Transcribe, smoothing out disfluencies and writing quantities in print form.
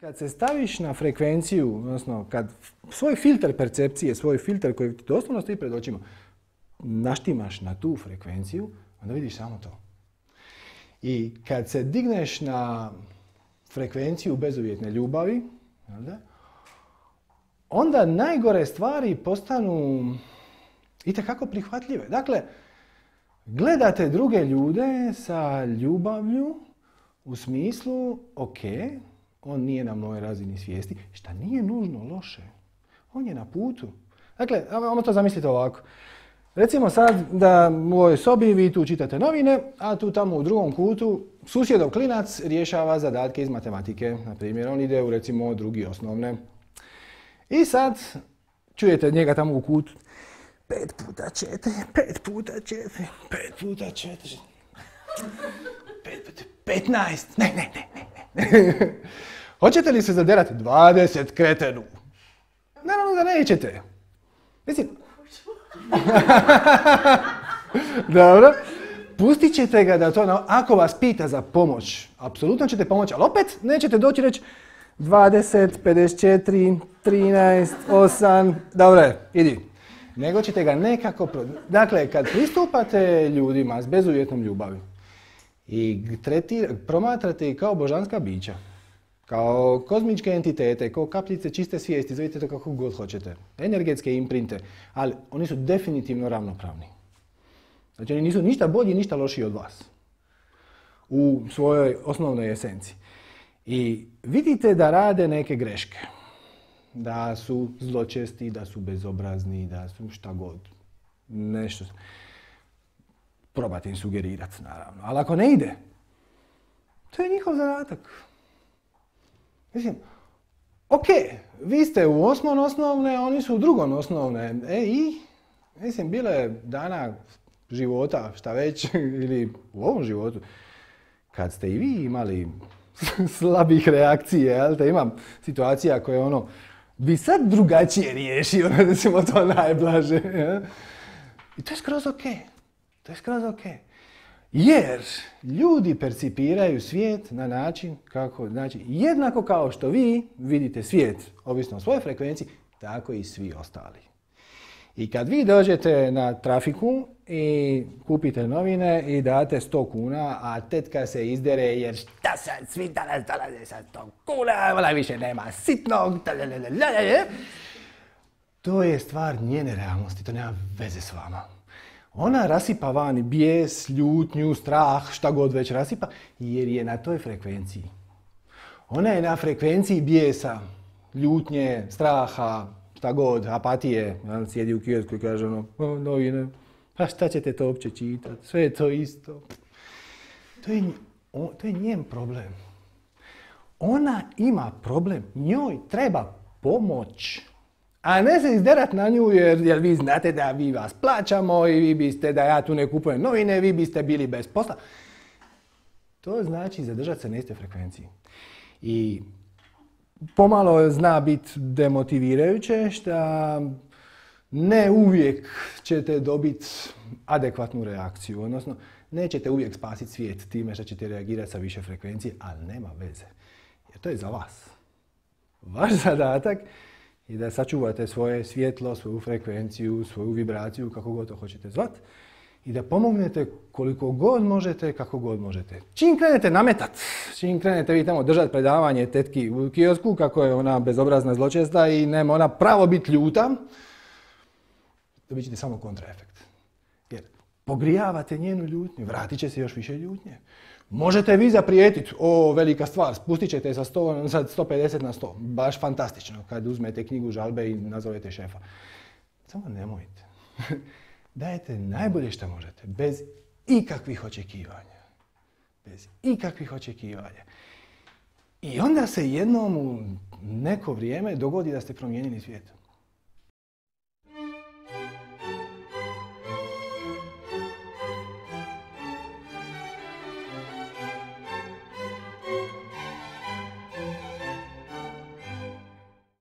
Kad se staviš na frekvenciju, odnosno kad svoj filter percepcije, svoj filter koji ti doslovno stoji pred očima, naštimaš na tu frekvenciju, onda vidiš samo to. I kad se digneš na frekvenciju bezuvjetne ljubavi, onda najgore stvari postanu itekako prihvatljive. Dakle, gledate druge ljude sa ljubavlju u smislu, ok, on nije na mojoj razini svijesti, šta nije nužno loše. On je na putu. Dakle, ajmo to zamisliti ovako. Recimo sad da u ovoj sobi vi tu čitate novine, a tu tamo u drugom kutu susjedov klinac rješava zadatke iz matematike. Na primjer, on ide u recimo drugi osnovne. I sad čujete njega tamo u kutu. 5 puta 4, 5 puta 4, 5 puta 4, 5 puta 15, ne. Hoćete li se zaderati 20 kretenu? Naravno da nećete. Mislim, dobro, pustit ćete ga da to, ako vas pita za pomoć, apsolutno ćete pomoći, ali opet nećete doći reći 20, 54, 13, 8, dobro, idi. Nego ćete ga nekako... Dakle, kad pristupate ljudima s bezuvjetnom ljubavi i promatrate ih kao božanska bića, kao kozmičke entitete, kao kapljice čiste svijesti, zovite to kako god hoćete, energetske imprinte, ali oni su definitivno ravnopravni. Znači, oni nisu ništa bolji, ništa lošiji od vas u svojoj osnovnoj esenciji. I vidite da rade neke greške. Da su zločesti, da su bezobrazni, da su šta god. Nešto. Probate im sugerirati, naravno. Ali ako ne ide, to je njihov zadatak. Mislim, ok, vi ste u osmom osnovne, a oni su u drugom osnovne. Mislim, bile dana života, šta već, ili u ovom životu, kad ste i vi imali slabih reakcije, jel te, imam situacija koje bi sad drugačije riješio, recimo to najblaže. Ja? I to je skroz ok. To je skroz ok. Jer ljudi percipiraju svijet na način kako, znači, jednako kao što vi vidite svijet, ovisno o svojoj frekvenciji, tako i svi ostali. I kad vi dođete na trafiku i kupite novine i date 100 kuna, a tetka se izdere jer šta sad svi danas dolaze sa 100 kuna, ona više nema sitnog, to je stvar njene realnosti, to nema veze s vama. Ona rasipa vani bijes, ljutnju, strah, šta god već rasipa, jer je na toj frekvenciji. Ona je na frekvenciji bijesa, ljutnje, straha, šta god, apatije. Sjedi u kiosku i kaže novine, pa šta ćete to uopće čitati, sve je to isto. To je njen problem. Ona ima problem, njoj treba pomoć. A ne se izderat na nju jer vi znate da vi vas plaćamo i vi biste, da ja tu ne kupujem novine, vi biste bili bez posla. To znači zadržati se na istoj frekvenciji. I pomalo zna biti demotivirajuće što ne uvijek ćete dobiti adekvatnu reakciju. Odnosno, nećete uvijek spasiti svijet time što ćete reagirati sa više frekvencije, ali nema veze. Jer to je za vas. Vaš zadatak i da sačuvate svoje svjetlo, svoju frekvenciju, svoju vibraciju, kako god to hoćete zvati, i da pomognete koliko god možete, kako god možete. Čim krenete nametat, čim krenete vi tamo držati predavanje tetki u kiosku, kako je ona bezobrazna zločesta i nema ona pravo biti ljuta, dobit ćete samo kontraefekt. Jer pogrijavate njenu ljutnju, vratit će se još više ljutnje. Možete vi zaprijetiti, velika stvar, spustit ćete sa 150 na 100. Baš fantastično kad uzmete knjigu žalbe i nazovete šefa. Samo nemojte. Dajete najbolje što možete, bez ikakvih očekivanja. Bez ikakvih očekivanja. I onda se jednom u neko vrijeme dogodi da ste promijenili svijet.